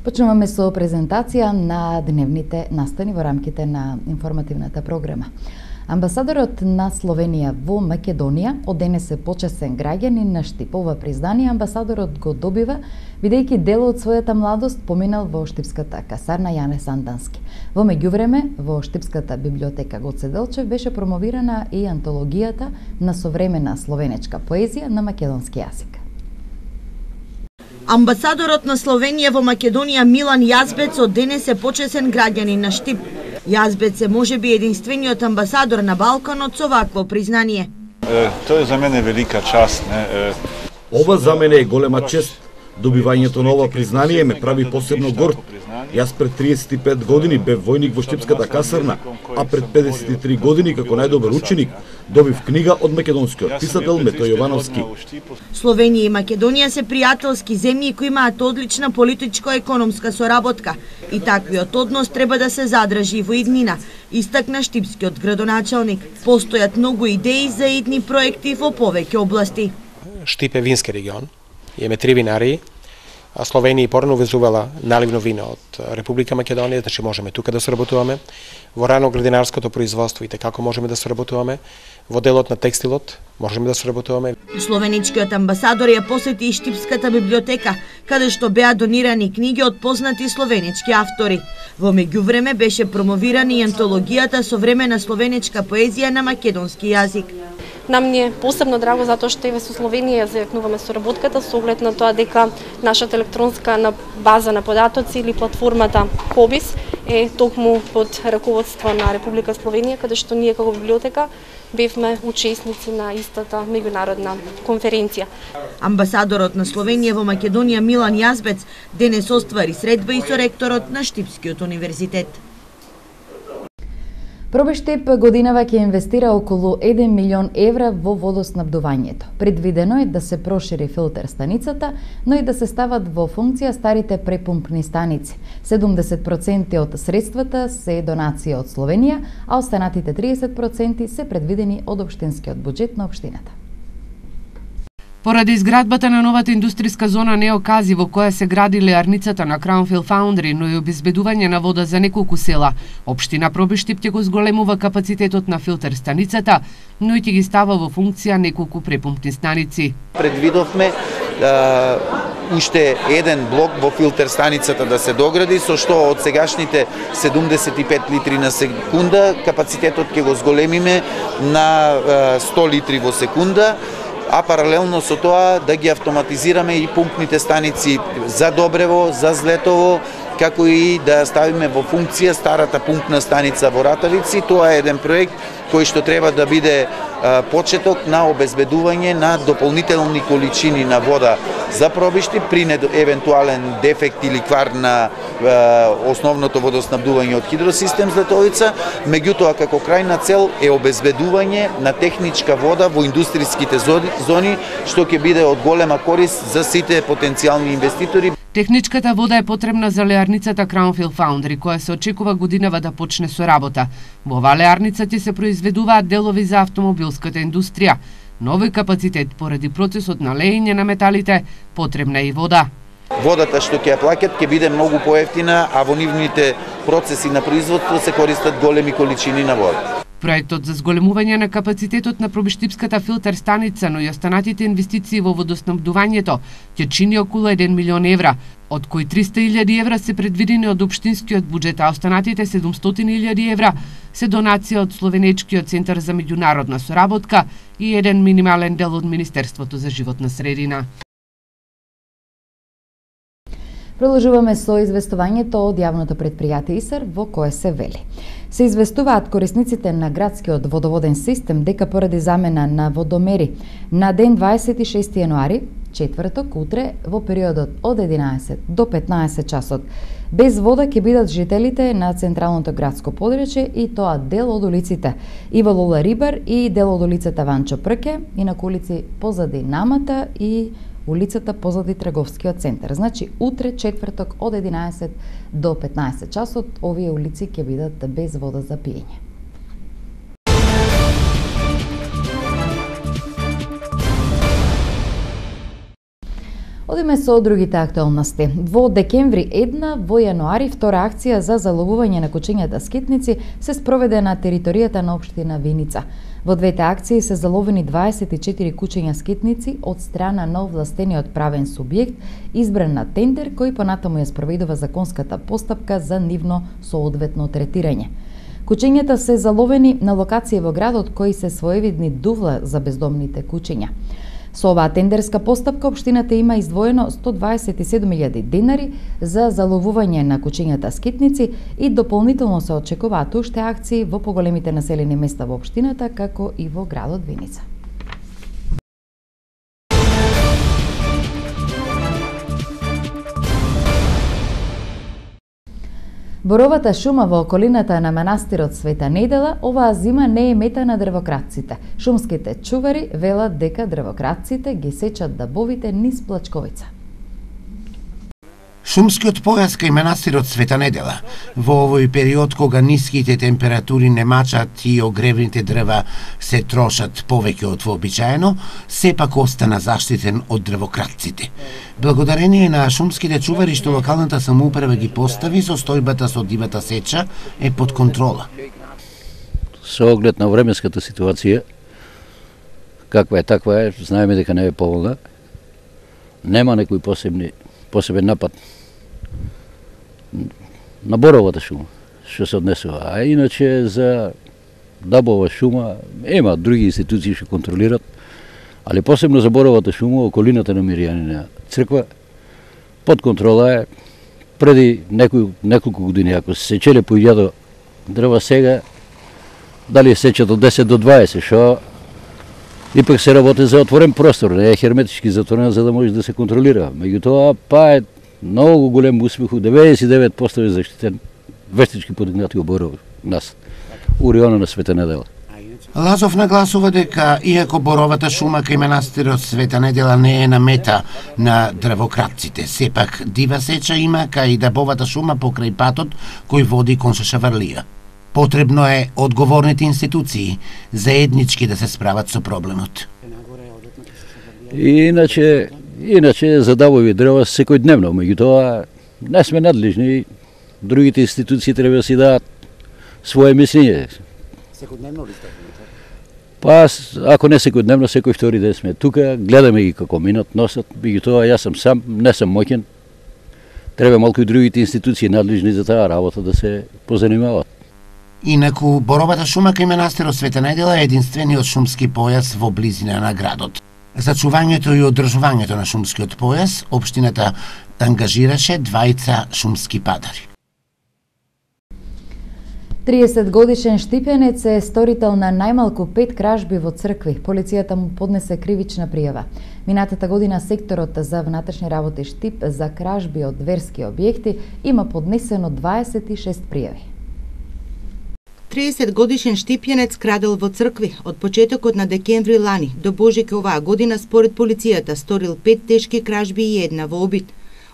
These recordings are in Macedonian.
Почнуваме со презентација на дневните настани во рамките на информативната програма. Амбасадорот на Словенија во Македонија од денес е почесен граѓанин на Штип. Ова признание амбасадорот го добива бидејќи дел од својата младост поминал во Штипската касарна Јане Сандански. Во меѓувреме во Штипската библиотека Гоце Делчев беше промовирана и антологијата на современа словенечка поезија на македонски јазик. Амбасадорот на Словенија во Македонија Милан Јазбец од денес е почесен граѓанин на Штип. Јазбец е можеби единствениот амбасадор на Балканот со вакво признание. Тоа е за мене велика част. Ова за мене е голема чест. Добивањето на ова признание ме прави посебно горд. Јас пред 35 години бев војник во Штипската касарна, а пред 53 години како најдобар ученик добив книга од македонскиот писател Метој Јовановски. Словенија и Македонија се пријателски земји кои имаат одлична политичко-економска соработка и таквиот однос треба да се задржи во иднина, истакна штипскиот градоначалник. Постојат многу идеи за идни проекти во повеќе области. Штип е вински регион. Имаме 3 винари. Словенија и порано увезувала наливно вино од Република Македонија, значи можеме тука да соработуваме. Во рано-градинарското производство и како можеме да соработуваме. Во делот на текстилот можеме да соработуваме. Словеничкиот амбасадор ја посети и Штипската библиотека, каде што беа донирани книги од познати словенички автори. Во меѓувреме беше промовирана и антологијата современа словеничка поезија на македонски јазик. Нам ни е посебно драго затоа што еве со Словенија зајакнуваме соработката со оглед на тоа дека нашата електронска база на податоци или платформата Кобис е токму под раководство на Република Словенија, каде што ние како библиотека бевме учесници на истата меѓународна конференција. Амбасадорот на Словенија во Македонија Милан Јазбец денес оствари средба и со ректорот на Штипскиот универзитет. Пробиштип годинава ќе инвестира околу 1 милион евра во водоснабдувањето. Предвидено е да се прошири филтер станицата, но и да се стават во функција старите препумпни станици. 70% од средствата се донација од Словенија, а останатите 30% се предвидени од општинскиот буџет на општината. Поради изградбата на новата индустријска зона Неокази во која се гради леарницата на Crownfield Foundry, но и обезбедување на вода за неколку села, општина Пробиштип ќе го зголемува капацитетот на филтер станицата, но и ќе ги става во функција неколку препумпни станици. Предвидовме уште еден блок во филтер станицата да се догради, со што од сегашните 75 литри на секунда капацитетот ќе го зголемиме на 100 литри во секунда, а паралелно со тоа да ги автоматизираме и пумпните станици за Добрево, за Злетово, како и да ставиме во функција старата пумпна станица во Ратовици. Тоа е еден проект кој што треба да биде почеток на обезбедување на дополнителни количини на вода за Пробиштип при евентуален дефект или квар на основното водоснабдување од хидросистем Злетовица. Меѓутоа, како крајна цел е обезбедување на техничка вода во индустријските зони, што ќе биде од голема корист за сите потенцијални инвеститори. Техничката вода е потребна за леарницата Crownfield Foundry, која се очекува годинава да почне со работа. Во оваа леарница ќе се произведуваат делови за автомобилската индустрија. Нови капацитет поради процесот на леење на металите, потребна е и вода. Водата што ќе ја плаќат ќе биде многу поевтина, а во нивните процеси на производство се користат големи количини на вода. Проектот за зголемување на капацитетот на Пробиштипската филтер станица, но и останатите инвестиции во водоснабдувањето ќе чини околу 1 милион евра, од кои 300.000 евра се предвидени од општинскиот буџет, а останатите 700.000 евра се донација од Словенечкиот центар за меѓународна соработка и еден минимален дел од Министерството за животна средина. Продолжуваме со известувањето од јавното предпријатие ИСАР во кое се вели. Се известуваат корисниците на градскиот водоводен систем дека поради замена на водомери на ден 26 јануари, четврток, утре, во периодот од 11 до 15 часот, без вода ќе бидат жителите на централното градско подрачје и тоа дел од улиците Ива Лола Рибар и дел од улицата Ванчо Прке и на улици позади Намата и улицата позади Трговскиот центар. Значи, утре, четврток, од 11 до 15 часот, овие улици ќе бидат без вода за пиење. Одиме Идеме со другите актуалности. Во декември една, во јануари втора акција за заловување на кучињата скитници се спроведе на територијата на општина Виница. Во двете акции се заловени 24 кучиња скитници од страна на овластениот правен субјект, избран на тендер кој понатаму ја спроведува законската постапка за нивно соодветно третирање. Кучињата се заловени на локација во градот кои се своевидни дувла за бездомните кучиња. Со оваа тендерска постапка општината има издвоено 127.000 денари за заловување на кучињата скитници и дополнително се очекуваат уште акции во поголемите населени места во општината, како и во градот Виница. Боровата шума во околината на манастирот Света Недела оваа зима не е мета на дрвократците. Шумските чувари велат дека дрвократците ги сечат дабовите низ Плачковица. Шумскиот појас кај манастирот Света Недела во овој период кога ниските температури не мачат и огревните дрва се трошат повеќе од вообичаено, сепак остана заштитен од дрвократците. Благодарение на шумските чувари што локалната самоуправа ги постави, состојбата со дивата сеча е под контрола. Со оглед на временската ситуација, каква е таква е, знаеме дека не е поволна, нема некој посебен напад на боровата шума што се однесува. А иначе за дабова шума има други институции што контролират, али посебно за боровата шума околината на Миријанина црква под контрола е. Преди неколку години, ако се сечеле по 1000 дрва, сега дали сечат од 10 до 20, што ипак се работи за отворен простор, не е херметички затворен за да може да се контролира. Меѓутоа, па е многу голем успех, 99% е заштитен, вештички подигнати оборов нас, у района на Света Недела. Лазов нагласува дека, иако боровата шума кај манастирот Света Недела не е на мета на дрвократците, сепак дива сеча има кај дабовата шума покрај патот кој води кон Шашаварлија. Потребно е одговорните институции заеднички да се справат со проблемот. Иначе за дабови дрва секојдневно, меѓутоа не сме надлежни, другите институции треба да си дадат своje мислење. Секојдневно ли сте? Па, ако не секојдневно, секој втори ден сме тука, гледаме ги како минат, носат, меѓутоа јас сам сам, не сам моќен. Треба малку и другите институции надлежни за таа работа да се позанимават. Инаку, боровата шума кај манастирот Света Недела е единствениот шумски појас во близина на градот. За чувањето и одржувањето на шумскиот појас, општината ангажираше 2 шумски падари. 30 годишен Штипјанец е сторител на најмалку 5 кражби во цркви. Полицијата му поднесе кривична пријава. Минатата година секторот за внатрешни работи Штип за кражби од верски објекти има поднесено 26 пријави. 30 годишен Штипјанец крадел во цркви од почетокот на декември лани до Божик оваа година, според полицијата сторил 5 тешки кражби и една во обид.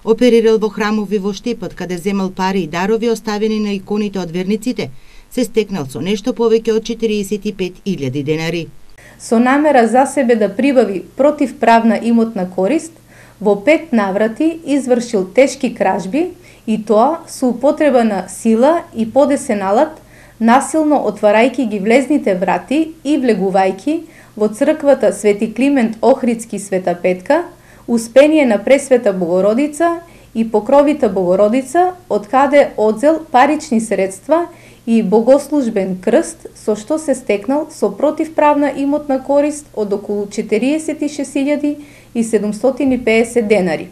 Оперирал во храмови во Штипот, каде земал пари и дарови оставени на иконите од верниците, се стекнал со нешто повеќе од 45.000 денари. Со намера за себе да прибави противправна имотна корист, во 5 наврати извршил тешки кражби и тоа со употреба на сила и подесен алат, насилно отварајќи ги влезните врати и влегувајќи во црквата Свети Климент Охридски Света Петка, Успение на Пресвета Богородица и Покровита Богородица, од каде одзел парични средства и богослужбен крст, со што се стекнал со противправна имотна корист од околу 46.750 денари.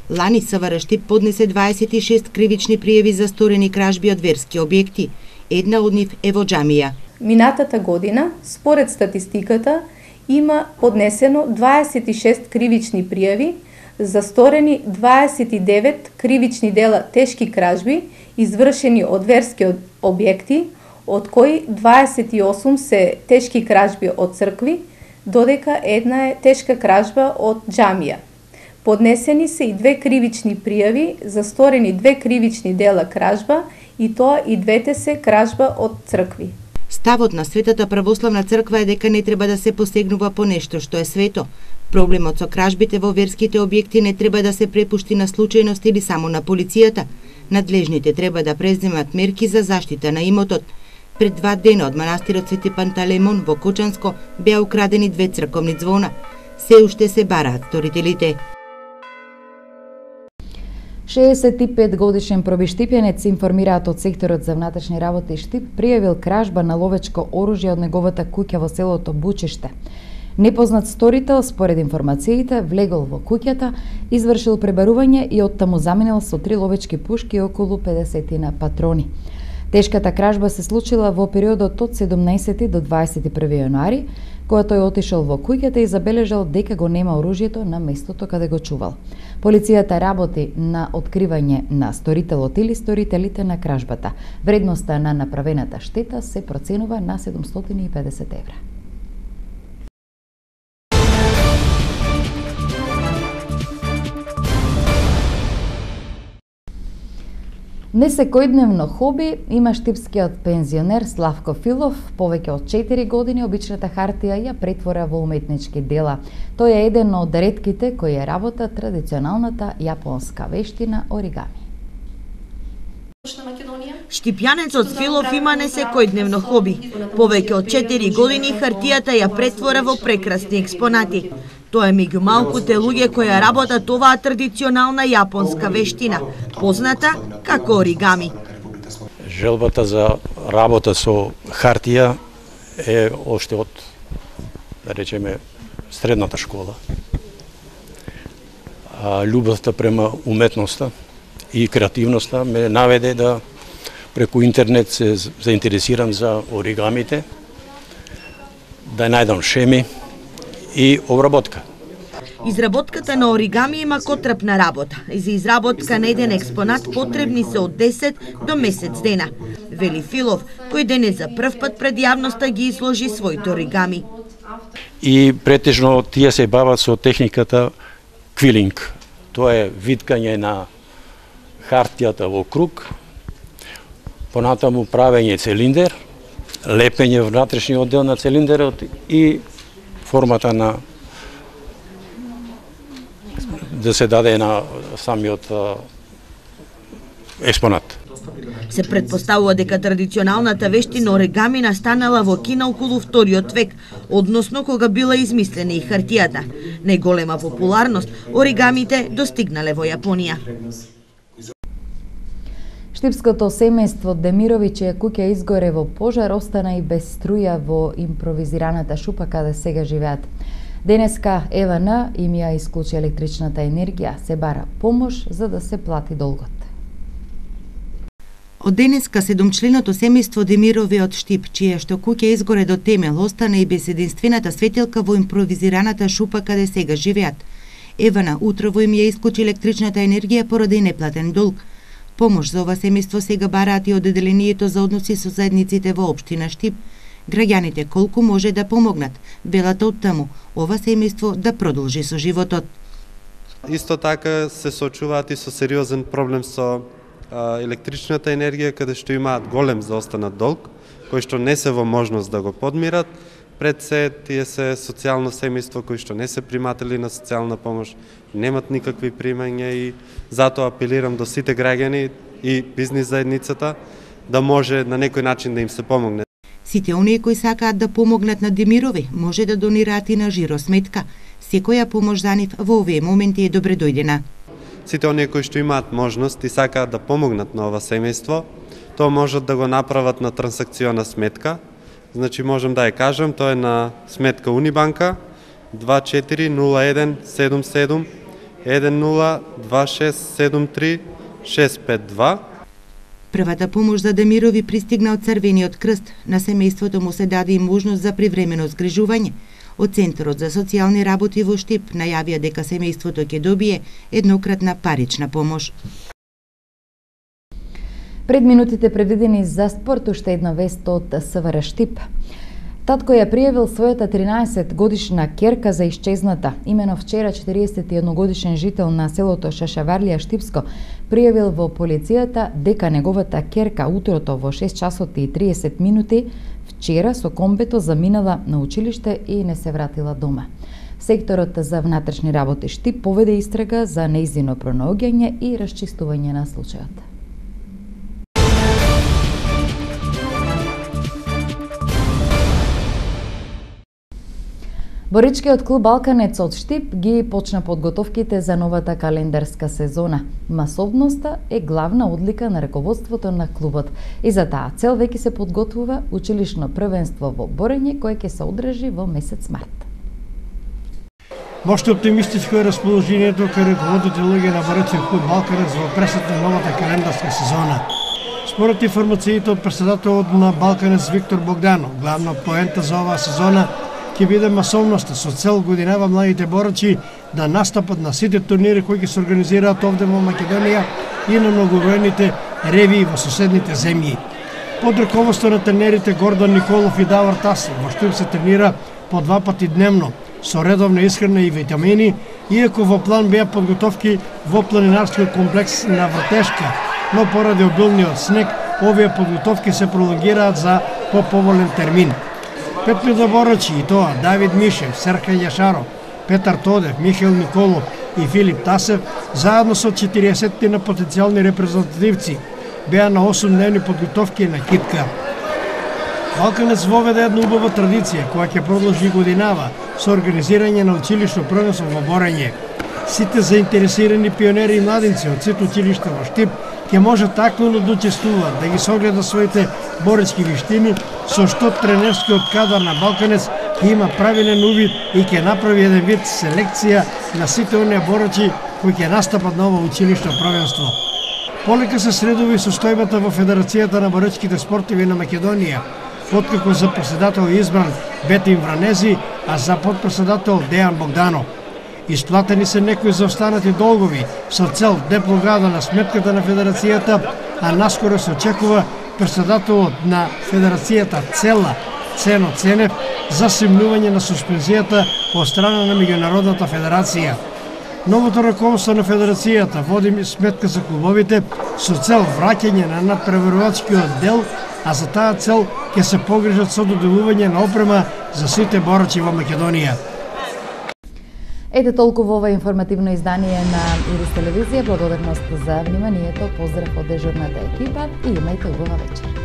Лани СВР Штип поднесе 26 кривични пријави за сторени кражби од верски објекти. Една од нив е во џамија. Минатата година, според статистиката, има поднесено 26 кривични пријави за сторени 29 кривични дела тешки кражби извршени од верски објекти, од кои 28 се тешки кражби од цркви, додека една е тешка кражба од џамија. Поднесени се и 2 кривични пријави за сторени 2 кривични дела кражба, и тоа и двете се кражба од цркви. Ставот на Светата православна црква е дека не треба да се посегнува по нешто што е свето. Проблемот со кражбите во верските објекти не треба да се препушти на случајност или само на полицијата. Надлежните треба да преземат мерки за заштита на имотот. Пред 2 дена од манастирот Свети Пантелеймон во Кочанско беа украдени 2 црковни звона. Се уште се бараат сторителите. 65 годишен пробиштипјанец, информираат од секторот за внатрешни работи Штип, пријавил кражба на ловечко оружје од неговата куќа во селото Бучиште. Непознат сторител, според информациите, влегол во куќата, извршил пребарување и оттаму заминал со 3 ловечки пушки и околу 50 патрони. Тешката кражба се случила во периодот од 17 до 21 јануари, кога тој отишел во куќата и забележал дека го нема оружјето на местото каде го чувал. Полицијата работи на откривање на сторителот или сторителите на кражбата. Вредноста на направената штета се проценува на 750 евра. Несекојдневно хоби има штипскиот пензионер Славко Филов. Повеќе од 4 години обичната хартија ја претвора во уметнички дела. Тој е еден од ретките кои ја работа традиционалната јапонска вештина оригами. Штипјанецот Филов има несекојдневно хоби. Повеќе од 4 години хартијата ја претвора во прекрасни експонати. Тоа е меѓу малкуте луѓе кои ја работат оваа традиционална јапонска вештина, позната како оригами. Желбата за работа со хартија е оште од, да речеме, средната школа. Љубовта према уметноста и креативноста ме наведе да преку интернет се заинтересирам за оригамите, да најдам шеми и обработка. Изработката на оригами има котрапна работа. За изработка на еден експонат потребни се од 10 до месец дена. Вели Филов, кој денес за прв пат пред јавноста ги изложи своите оригами. И претежно тие се бават со техниката квилинг. Тоа е виткање на хартијата во круг, понатаму правење цилиндер, лепење внатрешниот дел на цилиндерот и формата на да се даде на самиот експонат. Се предпоставува дека традиционалната вештина оригами настанала во Кина околу 2 век, односно кога била измислена и хартијата. Најголема популарност оригамите достигнале во Јапонија. Штипското семејство Демирови, чија куќа изгоре во пожар, остана и без струја во импровизираната шупа каде сега живеат. Денеска ЕВН им ја исклучи електричната енергија, се бара помош за да се плати долгот. Од денеска 7-членото семејство Демирови од Штип, чија што куќа изгоре до темел, остана и без единствената светилка во импровизираната шупа каде сега живеат. ЕВН утрово им ја исклучи електричната енергија поради неплатен долг. Помош за ова семејство сега бараат и од Одделението за односи со заедниците во општина Штип. Граѓаните колку може да помогнат, велат од таму, ова семејство да продолжи со животот. Исто така се соочуваат и со сериозен проблем со електричната енергија, каде што имаат голем заостанат долг, кој што не се во можност да го подмират. Пред се, тие се социјално семејство кои што не се приматели на социјална помош, немат никакви примања и затоа апелирам до сите граѓани и бизнис заедницата да може на некој начин да им се помогне. Сите оние кои сакаат да помогнат на Демирови може да донираат и на жиросметка. Секоја помош за нив во овие моменти е добре дојдена. Сите оние кои што имаат можност и сакаат да помогнат на ова семејство, тоа можат да го направат на трансакциона сметка. Значи можам да ја кажам, тоа е на сметка Унибанка 240177 102673 652. Првата помош за Демирови пристигна од Црвениот крст. На семејството му се даде и можност за привремено згрижување. Од Центарот за социјални работи во Штип најавија дека семејството ќе добие еднократна парична помош. Пред минутите предвидени за спорт, уште една вест од СВР Штип. Татко ја пријавил својата 13-годишна керка за исчезната. Имено вчера 41-годишен жител на селото Шашаварлија Штипско пријавил во полицијата дека неговата керка утрото во 6 часот и 30 минути вчера со комбето заминала на училиште и не се вратила дома. Секторот за внатрешни работи Штип поведе истрага за нејзино пронаоѓање и расчистување на случајот. Боричкиот клуб Балканец од Штип ги почна подготовките за новата календарска сезона. Масовноста е главна одлика на раководството на клубот и за таа цел веќе се подготвува училишно првенство во борење кое ќе се одржи во месец март. Мошто оптимистичко е расположението кај раководните луѓе на Боричкиот клуб Балканец во пресет на новата календарска сезона. Според информациите од претседателот на Балканец Виктор Богданов, главна поента за оваа сезона ќе биде масовноста со цел годинава младите борачи да настапат на сите турнири кои ќе се организираат овде во Македонија и на многобројните ревии во соседните земји. Под раководство на тренерите Гордан Николов и Давор Тасов, во Штип се тренира по 2 пати дневно со редовна исхрана и витамини, иако во план беа подготовки во планинарскиот комплекс на Вртешка, но поради обилниот снег овие подготовки се пролонгираат за поповолен термин. 5 борачи и тоа Давид Мишев, Серхан Јашаров, Петар Тодев, Михаил Николов и Филип Тасев, заедно со 40 на потенцијални репрезентативци, беа на 8-дневни подготовки на китка. Балканец воведе една убава традиција која ќе продолжи годинава со организирање на училишно првенство во борење. Сите заинтересирани пионери и младинци од сите училишта во Штип ќе можат активно да учествуваат, да ги согледа своите боречки виштини, со што тренерскиот кадар на Балканец ќе има правилен увид и ќе направи еден вид селекција на сите оние борачи кои ќе настапат на ова училишно првенство. Полека се средува и состојбата во Федерацијата на боречките спортови на Македонија, откако за претседател е избран Бетин Вранези, а за подпредседател Дејан Богданов. Исплатени се некои заостанати долгови со цел деблокада на сметката на Федерацијата, а наскоро се очекува претседателот на Федерацијата Цено Ценев за симнување на суспензијата од страна на Меѓународната федерација. Новото раководство на Федерацијата води сметка за клубовите со цел враќање на надпреварувачкиот дел, а за таа цел ќе се погрижат со доделување на опрема за сите борачи во Македонија. Ете толку во ова информативно издание на Ирис телевизија. Благодарност за вниманието, поздрав од дежурната екипа и имајте убава вечер.